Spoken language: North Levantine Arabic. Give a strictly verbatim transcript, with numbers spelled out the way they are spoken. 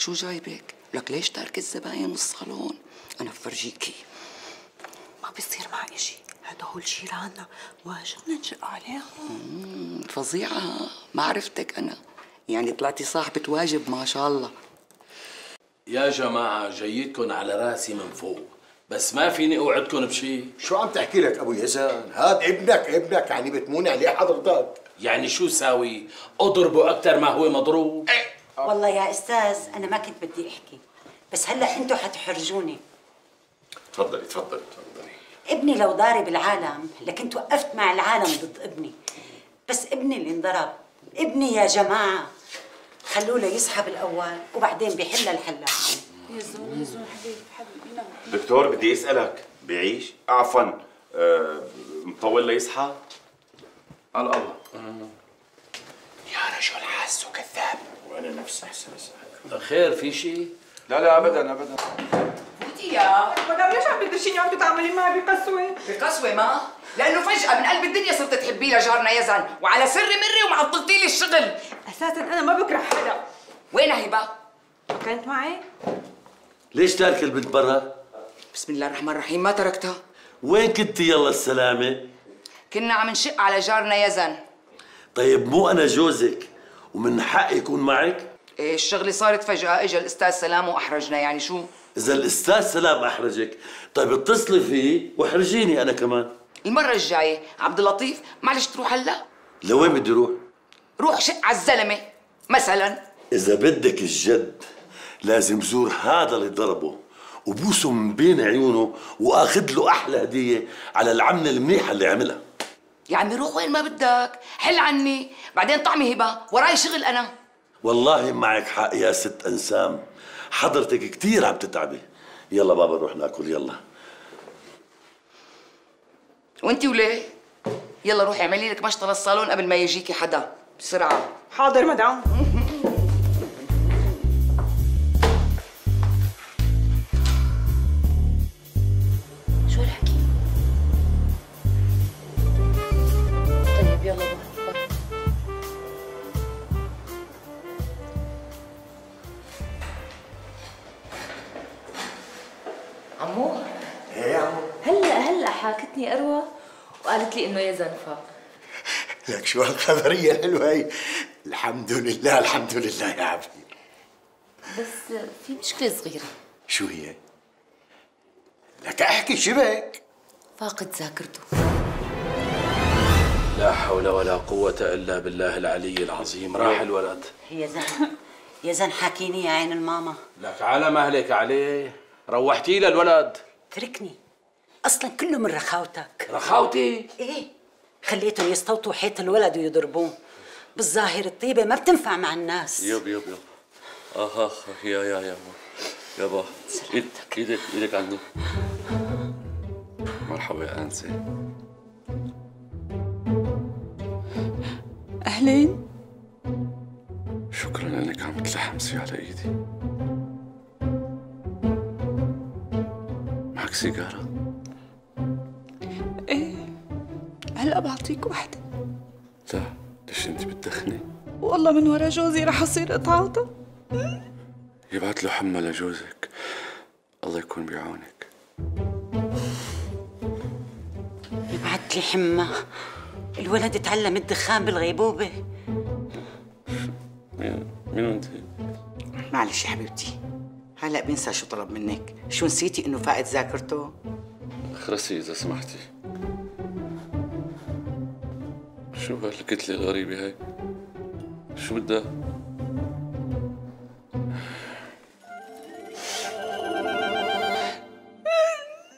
شو جايبك؟ لك ليش تارك الزباين والصالون؟ أنا بفرجيكي. ما بيصير مع إشي، هدول جيراننا واجبنا نشق عليهم. فظيعة، ما عرفتك أنا، يعني طلعتي صاحبة واجب ما شاء الله. يا جماعة جايتكن على راسي من فوق، بس ما فيني اوعدكن بشي. شو عم تحكي لك ابو يزن؟ هاد ابنك ابنك يعني بتموني عليه حضرتك. يعني شو ساوي؟ اضربه اكثر ما هو مضروب؟ ايه. والله يا استاذ انا ما كنت بدي احكي، بس هلا انتوا حتحرجوني. تفضلي تفضلي تفضلي. ابني لو ضارب العالم لكنت وقفت مع العالم ضد ابني، بس ابني اللي انضرب. ابني يا جماعه خلوه يسحب الاول وبعدين بيحل الحلا. يا زون يا زون حبيبي حبيبي نام. دكتور بدي اسالك، بيعيش؟ عفوا أه مطول ليصحى؟ على الله. يا رجل حاسه كذاب وانا نفس احساسك. خير في شيء؟ لا لا ابدا ابدا. فوتي يا مدام ليش عم تدرشيني عم تتعاملي معي بقسوه؟ بقسوة ما؟ لأنه فجأة من قلب الدنيا صرت تحبيه لجارنا يزن، وعلى سر مري ومعطلتي لي الشغل. اساسا انا ما بكره حدا. وينها هبة؟ ما كانت معي؟ ليش تارك البنت برا؟ بسم الله الرحمن الرحيم، ما تركتها. وين كنتي يلا السلامة؟ كنا عم نشق على جارنا يزن. طيب مو أنا جوزك ومن حقي يكون معك؟ إيه الشغلة صارت فجأة، اجى الأستاذ سلام وأحرجنا، يعني شو؟ إذا الأستاذ سلام أحرجك، طيب اتصلي فيه واحرجيني أنا كمان. المرة الجاية عبد اللطيف معلش تروح هلا؟ لوين بدي روح؟ روح شق على الزلمة مثلا. إذا بدك الجد لازم زور هذا اللي ضربه وبوسه من بين عيونه واخذ له احلى هديه على العمله المنيحه اللي عملها. يا عمي روح وين ما بدك، حل عني، بعدين طعمي هبه، وراي شغل انا. والله معك حق يا ست انسام، حضرتك كثير عم تتعبي. يلا بابا نروح ناكل يلا. وانتي وليه؟ يلا روحي اعملي لك مشطه للصالون قبل ما يجيكي حدا، بسرعه. حاضر مدام. شو الحكي؟ طيب يلا بقى. عمو ايه يا عمو؟ هلا هلا حاكتني اروى وقالت لي انه يزن فاق. لك شو هالخبريه الحلوه هي. الحمد لله الحمد لله يا عمي. بس في مشكلة صغيرة. شو هي؟ لك احكي شبك. فاقد ذاكرته. لا حول ولا قوة إلا بالله العلي العظيم. راح الولد. يا زن يا زن حكيني يا عين الماما. لك على مهلك عليه، روحتي له الولد. تركني، اصلا كله من رخاوتك. رخاوتي؟ ايه، خليتهم يستوطوا حيط الولد ويضربوه. بالظاهر الطيبه ما بتنفع مع الناس. يب يب يب. اخ اخ يا يا يا يابا، ايدك ايدك ايدك عني. مرحبا يا انسه. اهلين. شكرا انك عم تلحمسي على ايدي. معك سيجاره؟ ايه هلا بعطيك وحده. لا، ليش انت بتدخني؟ والله من ورا جوزي رح اصير قطعته. يبعت له حمى لجوزك، الله يكون بعونك. يبعت لي حمى؟ الولد اتعلم الدخان بالغيبوبه. مين مين انت؟ معلش يا حبيبتي، هلا بنسى شو طلب منك. شو نسيتي انه فاقد ذاكرته؟ اخرسي اذا سمحتي. شو هالكتله الغريبه هاي؟ شو بدها؟